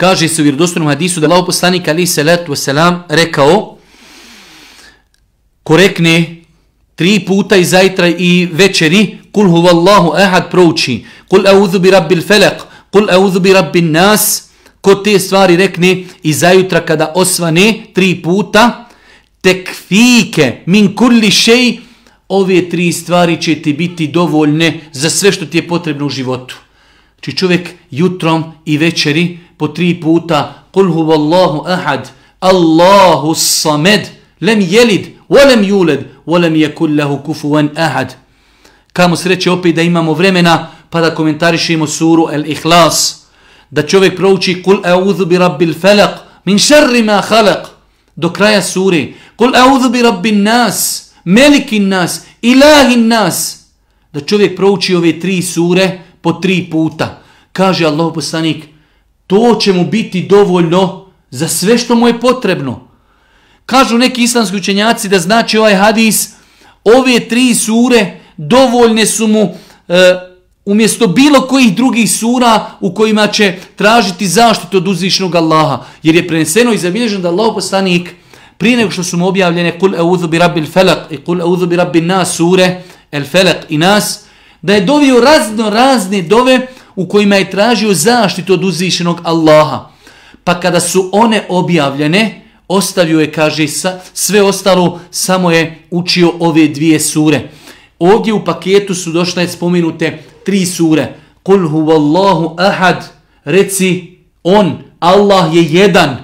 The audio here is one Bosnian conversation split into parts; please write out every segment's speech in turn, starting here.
Kaže se u vjerodostojnom hadisu da Allahov poslanik alejhi selatu vesselam rekao, ko rekne 3 puta i zajtra i večeri, kul huvallahu ahad prouči, kul a'udhu bi rabbil falaq, kul a'udhu bi rabbin nas, ko te stvari rekne i zajutra kada osvane 3 puta, tekfike min kulli šej, ove 3 stvari će ti biti dovoljne za sve što ti je potrebno u životu. Znači čovjek jutrom i večeri po 3 puta, kul huvallahu ahad, Allahu samed, lem jelid, volem juled, volem jekul lahu kufuvan ahad. Kamo sreće opet da imamo vremena pa da komentarišemo suru Al-Ikhlas. Da čovjek prouči kul a'udhu bi rabbil falaq min šarri ma khalaq do kraja sure. Kul a'udhu bi rabbin nas, melikin nas, ilahin nas. Da čovjek prouči ove 3 sure po 3 puta. Kaže Allahov poslanik, to će mu biti dovoljno za sve što mu je potrebno. Kažu neki islamski učenjaci da znači ovaj hadis, ove 3 sure dovoljne su mu umjesto bilo kojih drugih sura u kojima će tražiti zaštitu od uzvišenog Allaha. Jer je preneseno i zabilježeno da Allahov poslanik prije nego što su mu objavljene kul a'udhu bi rabbil falaq i kul a'udhu bi rabbin nas sure el falaq i nas, da je dovio razne dove u kojima je tražio zaštitu od uzvišenog Allaha. Pa kada su one objavljene, ostavio je, kaže, sve ostalo, samo je učio ove 2 sure. Ovdje u paketu su došle spomenute 3 sure. Kul huvallahu ahad, reci on, Allah je jedan,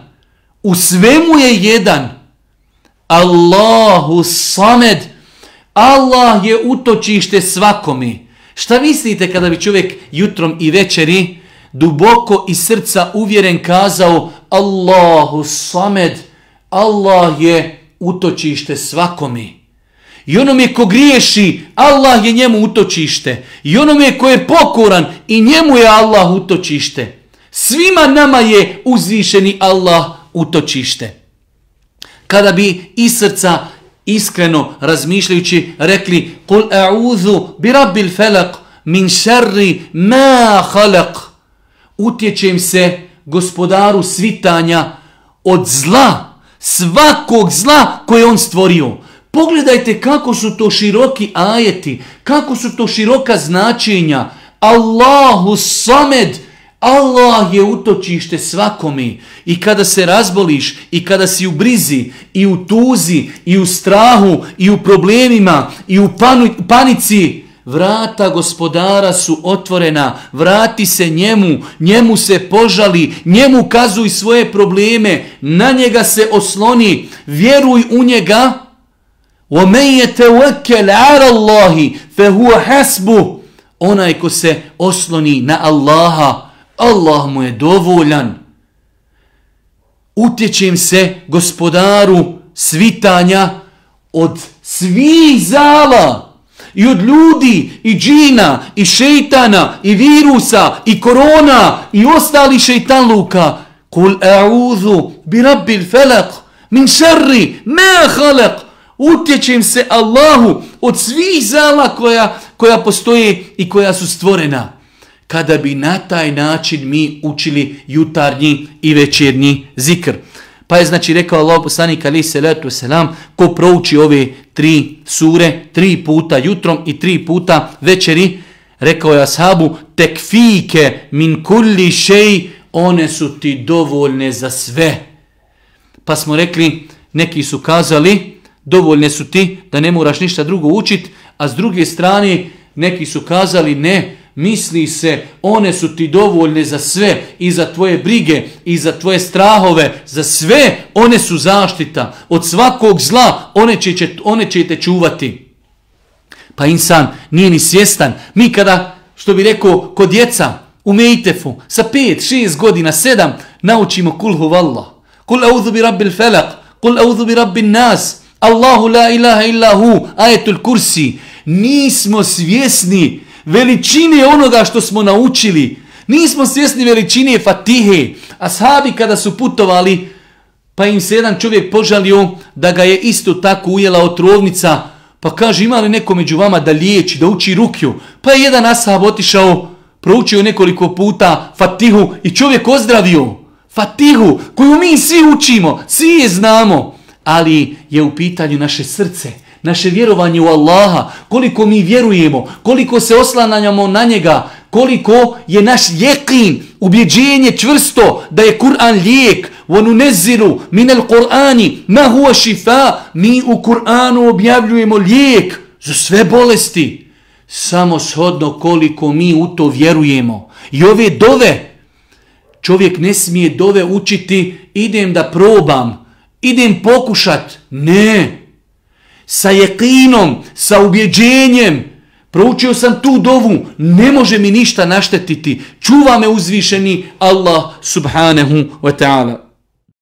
u svemu je jedan. Allahu samed, Allah je utočište svakome. Šta mislite kada bi čovjek jutrom i večeri duboko iz srca uvjeren kazao Allahu samed, Allah je utočište svakome. I onome ko griješi, Allah je njemu utočište. I onome ko je pokoran, i njemu je Allah utočište. Svima nama je uzvišeni Allah utočište. Kada bi iz srca iskreno razmišljajući rekli kul a'udhu bi rabbil falaq min šarri ma khalaq, utječem se gospodaru svitanja od zla, svakog zla koje on stvorio. Pogledajte kako su to široki ajeti, kako su to široka značenja. Allahu samed, Allah je utočište svakome. I kada se razboliš, i kada si u brizi, i u tuzi, i u strahu, i u problemima, i u panici, vrata gospodara su otvorena, vrati se njemu, njemu se požali, njemu kazuj svoje probleme, na njega se osloni, vjeruj u njega. وَمَنْ يَتَوَكَّلْ عَلَى اللَّهِ فَهُوَ حَسْبُهُ, onaj ko se osloni na Allaha, Allah mu je dovoljan. Utječem se gospodaru svitanja od svih zala, i od ljudi, i džina, i šejtana, i virusa, i korona, i ostali šejtanluka. Kul a'udhu bi rabbil falaq min šarri ma khalaq, utječem se Allahu od svih zala koja postoje i koja su stvorena. Kada bi na taj način mi učili jutarnji i večernji zikr. Pa je znači rekao Allahov poslanik alejhi selatu selam, ko prouči ove 3 sure 3 puta jutrom i 3 puta večeri, rekao je ashabu, tekfike min kulli šej, one su ti dovoljne za sve. Pa smo rekli, neki su kazali, dovoljne su ti da ne moraš ništa drugo učiti, a s druge strane neki su kazali ne, misli se, one su ti dovoljne za sve, i za tvoje brige, i za tvoje strahove, za sve, one su zaštita. Od svakog zla one će te čuvati. Pa insan nije ni svjestan. Mi kada, što bi rekao, kod djeca u Mejtefu, sa 5, 6 godina, 7, naučimo kul huvallah, kul a'udhu bi rabbil falaq, kul a'udhu bi rabbin nas, Allahu la ilaha illa hu, ajetul kursi. Nismo svjesni veličine onoga što smo naučili. Nismo svjesni veličine Fatihe. Ashabi kada su putovali, pa im se jedan čovjek požalio da ga je isto tako ujela otrovnica, pa kaže, ima li neko među vama da liječi, da uči rukju? Pa je jedan ashab otišao, proučio nekoliko puta Fatihu i čovjek ozdravio. Fatihu, koju mi svi učimo, svi je znamo, ali je u pitanju naše srce, naše vjerovanje u Allaha, koliko mi vjerujemo, koliko se oslanjamo na njega, koliko je naš jeqin, ubjeđenje čvrsto da je Kur'an lijek. وَنُنَزِّلُ مِنَ الْقُرْآنِ مَا هُوَ شِفَاء. Mi u Kur'anu objavljujemo lijek za sve bolesti. Samo shodno koliko mi u to vjerujemo. I ove dove, čovjek ne smije dove učiti, idem da probam, idem pokušat. Ne. Sa jeqinom, sa ubjeđenjem, proučio sam tu dovu, ne može mi ništa naštetiti. Čuva me uzvišeni Allah subhanahu wa ta'ala.